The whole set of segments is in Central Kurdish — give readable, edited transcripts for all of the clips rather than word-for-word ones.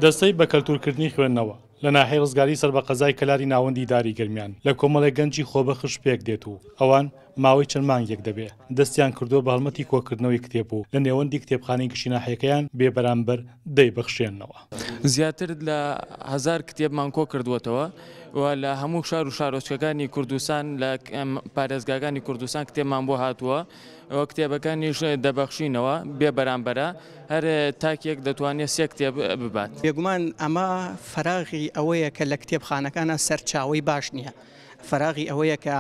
دەستەی بەکەلتوورکردنی خوێندنەوە لە ناحیەی ڕزگاری سەر بە قەزای کەلاری ناوەندی ئیداری گەرمیان لە کۆمەڵێک گەنجی خۆبەخش پێکدێت و ئەوان ماوەی چەند مانگێک دەبێ دەستیان کردووە بە هەڵمەتی کۆکردنەوەی کتێب و لە نێوەندی کتێبخانەی گشتی ناحیەکەیان بێ بەرامبەر دەیبەخشێننەوە. زیاتر لە هەزار کتێبمان کۆکردووەتەوە و لە هەموو شار و شارۆچکەکانی کوردستان لە پارێزگاکانی کوردستان کتێبمان بۆ هاتووە و کتێبەکانیش دەبەخشینەوە بێ بەرامبەرە، هەر تاکێک دەتوانێت سێ کتێب ببات. بێگومان ئەمە فەراغی ئەوەیە کە لە کتێبخانەکانا سەرچاوەی باش نییە، فەراغی ئەوەیە کە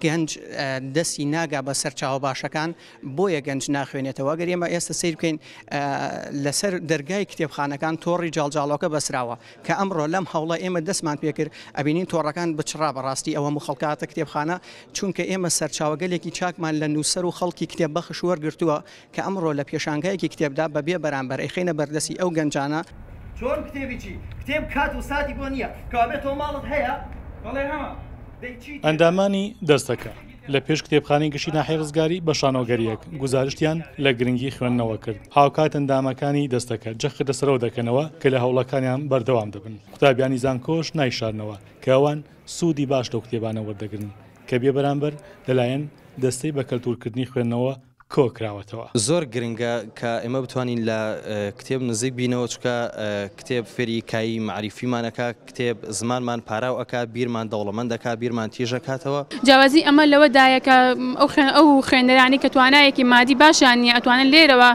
گەنج دەستی ناگا بە سەرچاوە باشەکان، بۆیە گەنج ناخوێنێتەوە. ئەگەر ئێمە ئێستا سەیر بکەین لەسەر دەرگای کتێبخانەکان تۆڕی جاڵجاڵۆکە بەسراوە، کە ئەمڕۆ لەم هەوڵە ئێمە دەستمان پێکرد ئەبینین تۆڕەکان بچڕا بەڕاستی ئەوە هەموو خەڵکە هاتە کتێبخانە چونکە ئێمە سەرچاوەگەلێکی چاکمان لە نووسەر و خەڵکی کتێب بەخش وەرگرتووە کە ئەمڕۆ لە پێشانگایەکی کتێبدا بە بێ بەرامبەر ئەیخەینە بەردەستی ئەو گەنجانە. چۆن کتێبی چی؟ کتێب کات و ساتی بۆ نییە. کەوابێ تۆ ماڵت هەیە؟ بەڵێ هەمە. دەی چی تێدا؟ ئەندامانی دەستەکە لە پێش کتێبخانەی گشتی ناحیەی ڕزگاری بە شانۆگەرییەک گوزارشتیان لە گرنگی خوێندنەوە کرد، هاوکات ئەندامەکانی دەستەکە جەخت لەسەر ئەوە دەکەنەوە کە لە هەوڵەکانیان بەردەوام دەبن، قوتابیانی زانکۆش نایشارنەوە کە ئەوان سوودی باش لەو کتێبانە وەردەگرن کە بێبەرامبەر لەلایەن دەستەی بەکەلتوورکردنی خوێندنەوە کۆکراوەتەوە. زۆر گرنگە کە ئێمە بتوانین لە کتێب نزیک بینەوە چونکە کتێب فێری کایی مەعریفیمان ئەکا، کتێب زمانمان پاراو ئەکا، بیرمان دەوڵەمەند ئەکا، بیرمان تیژ ئەکاتەوە. جیاوازی ئەمە لەوەدایە کە ئەو خوێندەرانەی کە توانایەکی مادی باشیان نییە ئەتوانن لێرەوە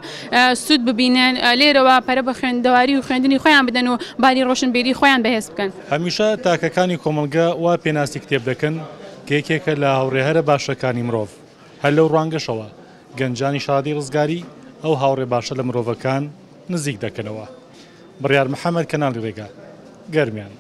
سوود ببینن، لێرەوە پەرە بە خوێندەواری و خوێندنی خۆیان بدەن و باری ڕۆشنبیری خۆیان بەهێز بکەن. هەمیشە تاکەکانی کۆمەڵگە وا پێناسی کتێب دەکەن کە یەکێکە لە هاوڕێ هەرە باشەکانی مرۆڤ. هەر لەو ڕوانگەشەوە گەنجانی شارەدێی ڕزگاری ئەو هاوڕێ باشە لە مرۆڤەکان نزیک دەکەنەوە. بڕیار محەمەد، کەناڵی ڕێگا، گەرمیان.